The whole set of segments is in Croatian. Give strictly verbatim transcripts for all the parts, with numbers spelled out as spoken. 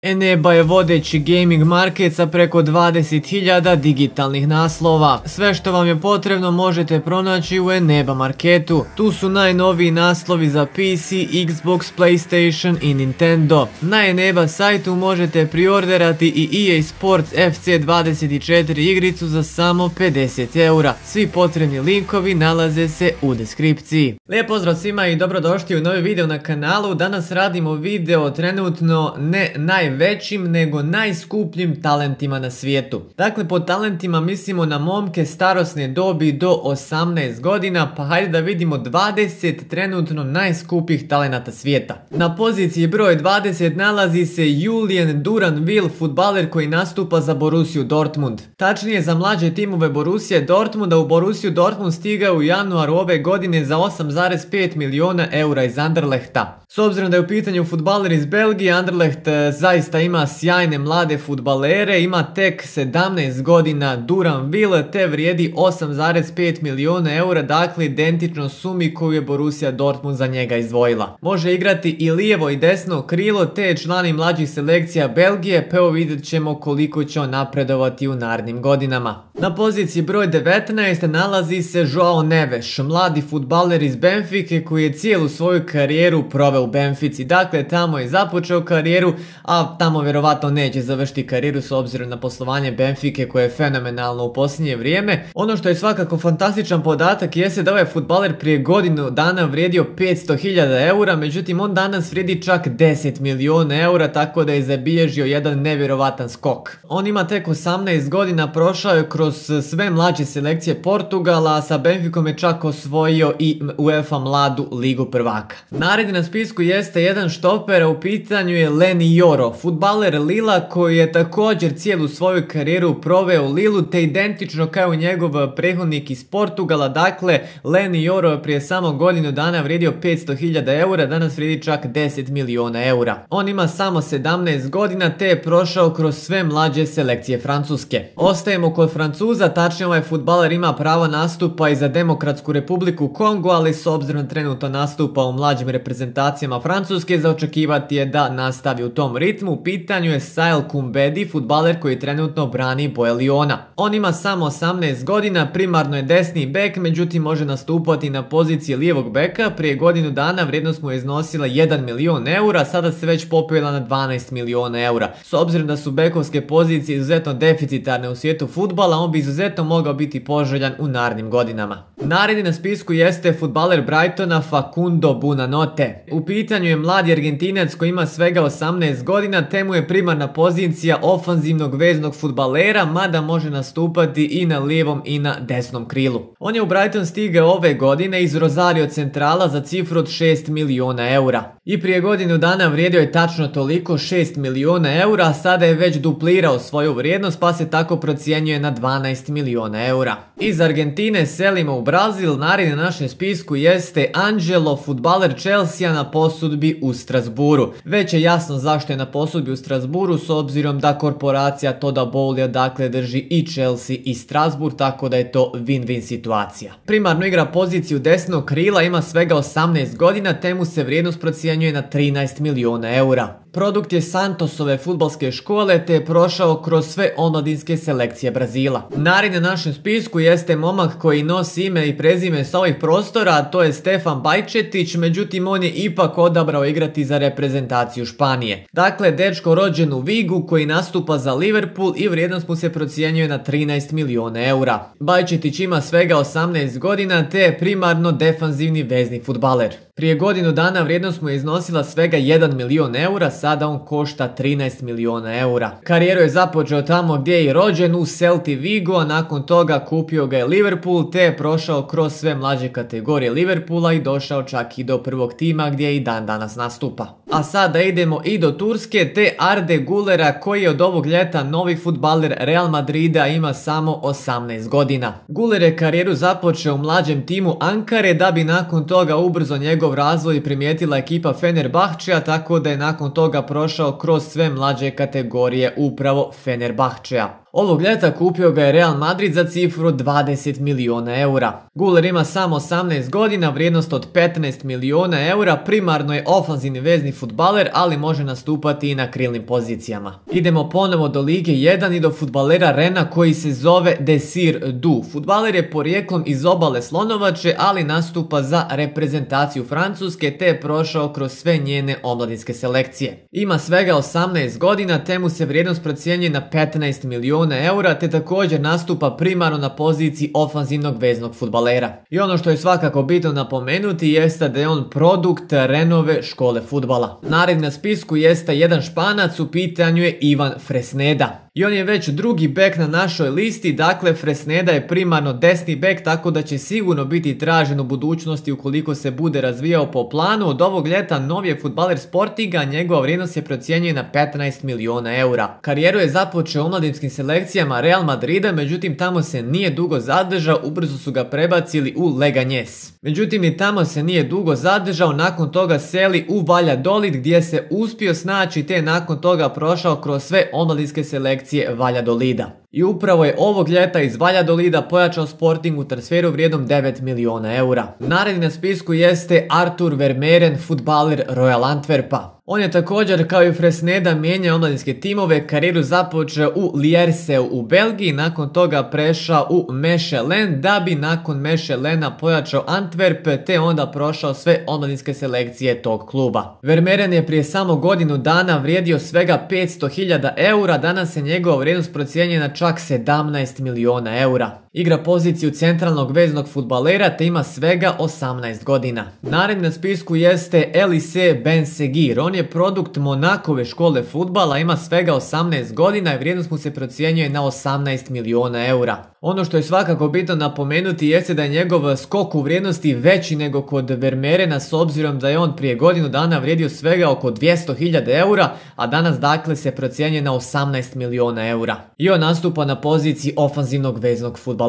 Eneba je vodeći gaming market sa preko dvadeset hiljada digitalnih naslova. Sve što vam je potrebno možete pronaći u Eneba marketu. Tu su najnoviji naslovi za P C, Xbox, PlayStation i Nintendo. Na Eneba sajtu možete priorderati i E A Sports F C dvadeset četiri igricu za samo pedeset eura. Svi potrebni linkovi nalaze se u deskripciji. Lijep pozdrav svima i dobrodošli u novi video na kanalu. Danas radimo video trenutno ne najvećim nego najskupljim talentima na svijetu. Dakle, pod talentima mislimo na momke starosne dobi do osamnaest godina, pa hajde da vidimo dvadeset trenutno najskupljih talenata svijeta. Na poziciji broj dvadeset nalazi se Julian Duranville, fudbaler koji nastupa za Borussiju Dortmund. Tačnije za mlađe timove Borussije Dortmunda. U Borussiju Dortmund stigao u januaru ove godine za osam zarez pet milijuna eura iz Anderlechta. S obzirom da je u pitanju fudbaler iz Belgije, Anderlecht zaista ima sjajne mlade fudbalere, ima tek sedamnaest godina Duranville, te vrijedi osam zarez pet milijuna eura, dakle identično sumi koju je Borussia Dortmund za njega izdvojila. Može igrati i lijevo i desno krilo, te je član i mlađih selekcija Belgije, pa evo vidjet ćemo koliko će on napredovati u narednim godinama. Na poziciji broj devetnaest nalazi se Joao Neves, mladi fudbaler iz Benfike koji je cijelu svoju karijeru proveo u Benfici. Dakle, tamo je započeo karijeru, a tamo vjerovatno neće završiti karijeru s obzirom na poslovanje Benfike koje je fenomenalno u posljednje vrijeme. Ono što je svakako fantastičan podatak jeste da ovaj fudbaler prije godinu dana vrijedio petsto hiljada eura, međutim on danas vrijedi čak deset milijuna eura, tako da je zabilježio jedan nevjerovatan skok. On ima tek osamnaest godina, prošao je kroz sve mlađe selekcije Portugala, a sa Benficom je čak osvojio i UEFA mladu ligu prvaka. Naredni na spisku jeste jedan štoper, a u pitanju je Leny Yoro, fudbaler Lila koji je također cijelu svoju karijeru proveo u Lilu, te identično kao njegov prethodnik iz Portugala. Dakle, Leny Yoro je prije samo godinu dana vrijedio petsto hiljada eura, danas vrijedi čak deset milijuna eura. On ima samo sedamnaest godina, te je prošao kroz sve mlađe selekcije Francuske. Ostajemo kod Francuza, tačnije ovaj fudbaler ima pravo nastupa i za Demokratsku republiku Kongo, ali s obzirom trenutno nastupa u mlađim reprezentacijama Francuske, za očekivati je da nastavi u tom ritmu. U pitanju je Sael Kumbedi, fudbaler koji trenutno brani boje Liona. On ima samo osamnaest godina, primarno je desni bek, međutim može nastupati na poziciji lijevog beka. Prije godinu dana vrijednost mu je iznosila jedan milijun eura, sada se već popela na dvanaest milijuna eura. S obzirom da su bekovske pozicije izuzetno deficitarne u svijetu fudbala, on bi izuzetno mogao biti poželjan u narednim godinama. Naredni na spisku jeste fudbaler Brightona Facundo Buonanotte. U pitanju je mladi Argentinac koji ima svega osamnaest godina, te mu je primarna pozicija ofanzivnog veznog fudbalera, mada može nastupati i na lijevom i na desnom krilu. On je u Brighton stigao ove godine iz Rosario Centrala za cifru od šest milijuna eura. I prije godinu dana vrijedio je tačno toliko, šest milijuna eura, a sada je već duplirao svoju vrijednost, pa se tako procjenjuje na dvanaest milijuna eura. Iz Argentine selimo u Brazil. Naredni na našem spisku jeste Angelo, fudbaler Chelsea na posudbi u Strasburu. Već je jasno zašto je na posudbi u Strasburu, s obzirom da korporacija Toda Bowley dakle drži i Chelsea i Strasbourg, tako da je to win-win situacija. Primarno igra poziciju desnog krila, ima svega osamnaest godina, te mu se vrijednost procjenjuje na trinaest milijuna eura. Produkt je Santosove fudbalske škole, te je prošao kroz sve omladinske selekcije Brazila. Naredni na našem spisku jeste momak koji nosi ime i prezime sa ovih prostora, a to je Stefan Bajčetić, međutim on je ipak odabrao igrati za reprezentaciju Španije. Dakle, dečko rođen u Vigu koji nastupa za Liverpool i vrijednost mu se procjenjuje na trinaest milijuna eura. Bajčetić ima svega osamnaest godina, te je primarno defanzivni vezni fudbaler. Prije godinu dana vrijednost mu je iznosila svega jedan milijun eura, sada on košta trinaest milijuna eura. Karijeru je započeo tamo gdje je i rođen, u Celti Vigo, a nakon toga kupio ga je Liverpool, te je prošao kroz sve mlađe kategorije Liverpoola i došao čak i do prvog tima gdje i dan danas nastupa. A sada idemo i do Turske, te Arde Gulera koji je od ovog ljeta novi fudbaler Real Madrida, ima samo osamnaest godina. Guler je karijeru započeo u mlađem timu Ankare, da bi nakon toga ubrzo njegov razvoj primijetila ekipa Fenerbahčeja, tako da je nakon toga prošao kroz sve mlađe kategorije upravo Fenerbahčeja. Ovog ljeta kupio ga je Real Madrid za cifru dvadeset milijuna eura. Guler ima samo osamnaest godina, vrijednost od petnaest milijuna eura, primarno je ofanzivni vezni fudbaler, ali može nastupati i na krilnim pozicijama. Idemo ponovo do Lige jedan i do fudbalera Rena koji se zove Desir Du. Fudbaler je porijeklom iz obale Slonovače, ali nastupa za reprezentaciju Francuske te je prošao kroz sve njene omladinske selekcije. Ima svega osamnaest godina te mu se vrijednost procjenjuje na petnaest milijuna eura te također nastupa primarno na poziciji ofanzivnog veznog fudbalera. I ono što je svakako bitno napomenuti jeste da je on produkt Renove škole fudbala. Naredni na spisku jeste jedan Španac, u pitanju je Ivan Fresneda. I on je već drugi bek na našoj listi, dakle Fresneda je primarno desni bek, tako da će sigurno biti tražen u budućnosti ukoliko se bude razvijao po planu. Od ovog ljeta novi je fudbaler Sportinga, njegova vrijednost je procjenjuje na petnaest milijuna eura. Karijeru je započeo u omladinskim selekcijama Real Madrida, međutim tamo se nije dugo zadržao, ubrzo su ga prebacili u Leganés. Međutim i tamo se nije dugo zadržao, nakon toga seli u Valladolid gdje se uspio snaći te nakon toga prošao kroz sve omladinske selekcije Valladolida. I upravo je ovog ljeta iz Valladolida pojačao Sporting u transferu vrijednom devet milijuna eura. Naredni na spisku jeste Artur Vermeeren, fudbaler Royal Antwerpa. On je također kao i Fresneda mijenjao omladinske timove, karijeru započeo u Liersseu u Belgiji, nakon toga prešao u Mechelen, da bi nakon Mechelena pojačao Antwerp te onda prošao sve omladinske selekcije tog kluba. Vermeeren je prije samo godinu dana vrijedio svega petsto hiljada eura, danas je njegova vrijednost procijenjena na čak sedamnaest milijuna eura. Igra poziciju centralnog veznog fudbalera te ima svega osamnaest godina. Naredni na spisku jeste Elise Benseghir. On je produkt Monakove škole fudbala, ima svega osamnaest godina i vrijednost mu se procjenjuje na osamnaest milijuna eura. Ono što je svakako bitno napomenuti jeste da je njegov skok u vrijednosti veći nego kod Vermeerena, s obzirom da je on prije godinu dana vrijedio svega oko dvjesto hiljada eura, a danas dakle se procjenjuje na osamnaest milijuna eura. I on nastupa na poziciji ofanzivnog veznog fudbalera.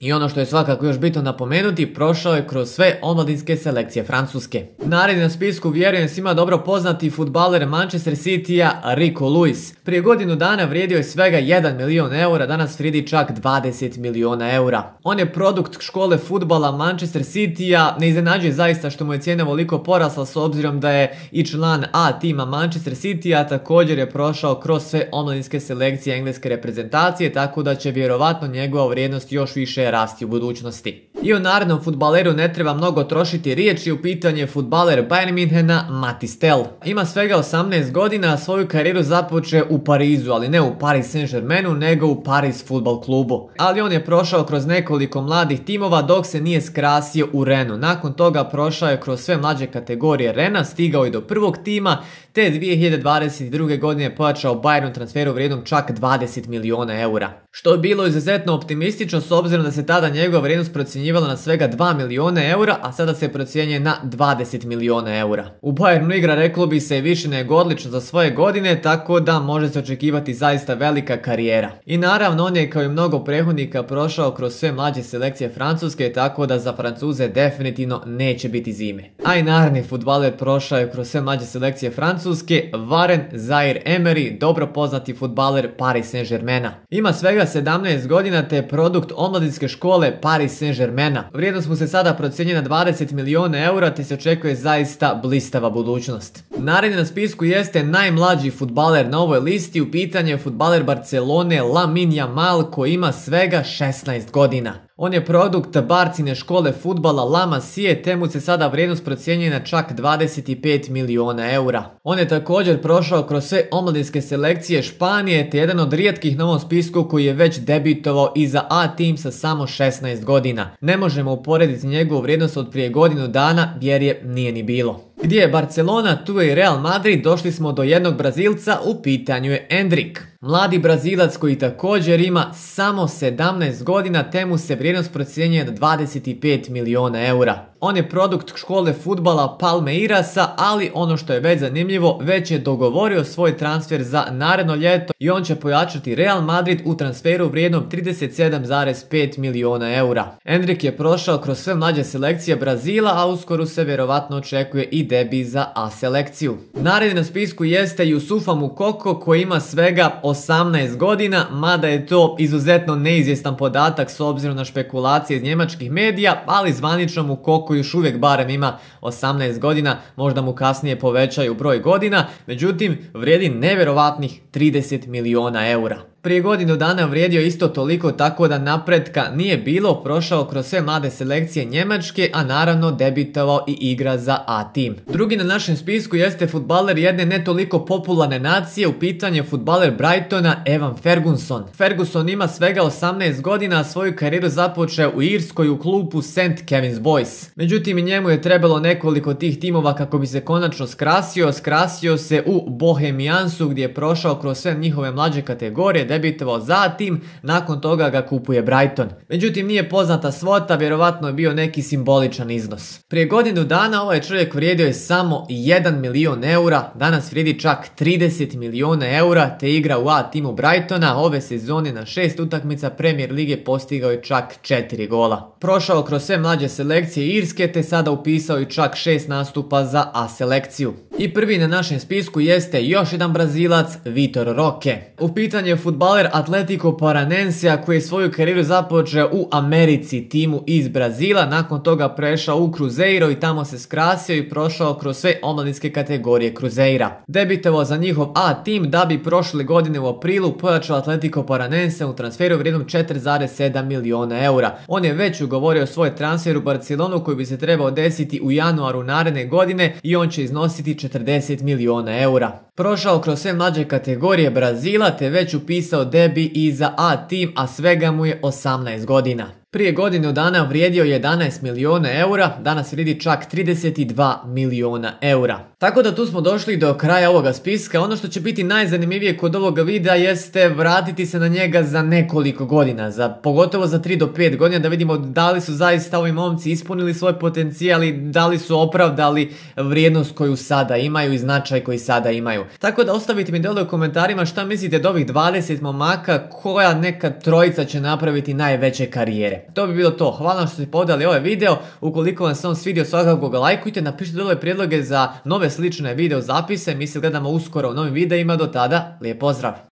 I ono što je svakako još bitno napomenuti, prošao je kroz sve omladinske selekcije Francuske. Naredni na spisku vjerujem svima dobro poznati fudbaler Manchester Citya Rico Lewis. Prije godinu dana vrijedio je svega jedan milijun eura, danas vrijedi čak dvadeset milijuna eura. On je produkt škole fudbala Manchester Citya, ne iznenađuje zaista što mu je cijena ovoliko porasla s obzirom da je i član A tima Manchester Citya, također je prošao kroz sve omladinske selekcije engleske reprezentacije, tako da će vjerovatno njegova vrijednost još više rasti u budućnosti. I o narednom fudbaleru ne treba mnogo trošiti riječi, u pitanju je fudbaler Bayern Münchena Mathys Tel. Ima svega osamnaest godina, a svoju karijeru započeo u Parizu, ali ne u Paris Saint-Germainu, nego u Paris Futbol klubu. Ali on je prošao kroz nekoliko mladih timova dok se nije skrasio u Renu. Nakon toga prošao je kroz sve mlađe kategorije Rena, stigao je do prvog tima, te dvije hiljade dvadeset druge. godine pojačao Bayernu transferu vrijednom čak dvadeset milijuna eura. Što je bilo izuzetno optimistično s obzirom da se tada njegova vrijednost procjenjivala na svega dva milijuna eura, a sada se procjenjuje na dvadeset milijuna eura. U Bayernu igra, reklo bi se, više nego odlično za svoje godine, tako da može se očekivati zaista velika karijera. I naravno on je kao i mnogo prethodnika prošao kroz sve mlađe selekcije Francuske, tako da za Francuze definitivno neće biti zime. A i naredni fudbaler prošao je kroz sve mlađe selekcije Francuske, Warren Zaïre-Emery, dobro poznati fudbaler Paris Saint-Germaina. Ima svega sedamnaest godina te je produkt omladinske škole Paris Saint-Germaina. Vrijednost mu se sada procjenjuje na dvadeset milijuna eura te se očekuje zaista blistava budućnost. Naredni na spisku jeste najmlađi fudbaler na ovoj listi, u pitanju je fudbaler Barcelone Lamine Yamal koji ima svega šesnaest godina. On je produkt Barcine škole fudbala La Masie, te mu se sada vrijednost procjenjuje na čak dvadeset pet milijuna eura. On je također prošao kroz sve omladinske selekcije Španije, te jedan od rijetkih na ovom spisku koji je već debitovao i za A tim sa samo šesnaest godina. Ne možemo uporediti njegovu vrijednost od prije godinu dana jer je nije ni bilo. Gdje je Barcelona, tu je i Real Madrid, došli smo do jednog Brazilca, u pitanju je Endrick. Mladi Brazilac koji također ima samo sedamnaest godina, te mu se vrijednost procjenjuje na dvadeset pet milijuna eura. On je produkt škole fudbala Palmeirasa, ali ono što je već zanimljivo, već je dogovorio svoj transfer za naredno ljeto i on će pojačati Real Madrid u transferu vrijednom trideset sedam zarez pet milijuna eura. Endrick je prošao kroz sve mlađe selekcije Brazila, a uskoro se vjerovatno očekuje i debi za A selekciju. Naredni na spisku jeste Youssoufa Moukoko koji ima svega osamnaest godina, mada je to izuzetno neizvjestan podatak s obzirom na špekulacije iz njemačkih medija, ali zvanično mu Koko još uvijek barem ima osamnaest godina, možda mu kasnije povećaju broj godina, međutim vrijedi nevjerovatnih trideset milijuna eura. Prije godinu dana vrijedio isto toliko, tako da napretka nije bilo, prošao kroz sve mlade selekcije Njemačke, a naravno debitovao i igra za A tim. Drugi na našem spisku jeste fudbaler jedne ne toliko popularne nacije, u pitanju je fudbaler Brightona Evan Ferguson. Ferguson ima svega osamnaest godina, a svoju karijeru započeo u Irskoj u klubu Saint Kevin's Boys. Međutim i njemu je trebalo nekoliko tih timova kako bi se konačno skrasio, skrasio se u Bohemiansu gdje je prošao kroz sve njihove mlađe kategorije, debitovao za tim, nakon toga ga kupuje Brighton. Međutim nije poznata svota, vjerovatno je bio neki simboličan iznos. Prije godinu dana ovaj čovjek vrijedio je samo jedan milion eura, danas vrijedi čak trideset milijuna eura te igra u A timu Brightona, ove sezone na šest utakmica Premier lige postigao je čak četiri gola. Prošao kroz sve mlađe selekcije Irske te sada upisao i čak šest nastupa za A selekciju. I prvi na našem spisku jeste još jedan Brazilac, Vitor Roque. U pitanju je fudbaler Atletico Paranensija koji je svoju karijeru započeo u Americi, timu iz Brazila, nakon toga prešao u Cruzeiro i tamo se skrasio i prošao kroz sve omladinske kategorije Cruzeira. Debitovao za njihov A tim da bi prošle godine u aprilu pojačao Atletico Paranensija u transferu vrijednom četiri zarez sedam milijuna eura. On je već ugovorio svoj transfer u Barcelonu koji bi se trebao desiti u januaru naredne godine i on će iznositi četrdeset milijuna eura. Prošao kroz sve mlađe kategorije Brazila te već upisao debi i za A tim, a svega mu je osamnaest godina. Prije godinu dana vrijedio jedanaest milijuna eura, danas vrijedi čak trideset dva milijuna eura. Tako da tu smo došli do kraja ovoga spiska. Ono što će biti najzanimljivije kod ovoga videa jeste vratiti se na njega za nekoliko godina, za, pogotovo za tri do pet godina, da vidimo da li su zaista ovi momci ispunili svoj potencijal i da li su opravdali vrijednost koju sada imaju i značaj koji sada imaju. Tako da ostavite mi dole u komentarima šta mislite od ovih dvadeset momaka, koja neka trojica će napraviti najveće karijere. To bi bilo to. Hvala što ste pogledali ovaj video. Ukoliko vam se on svidio, svakako ga lajkujte, napišite dole prijedloge za nove slične video zapise. Mi se gledamo uskoro u novim videima. Do tada, lijep pozdrav!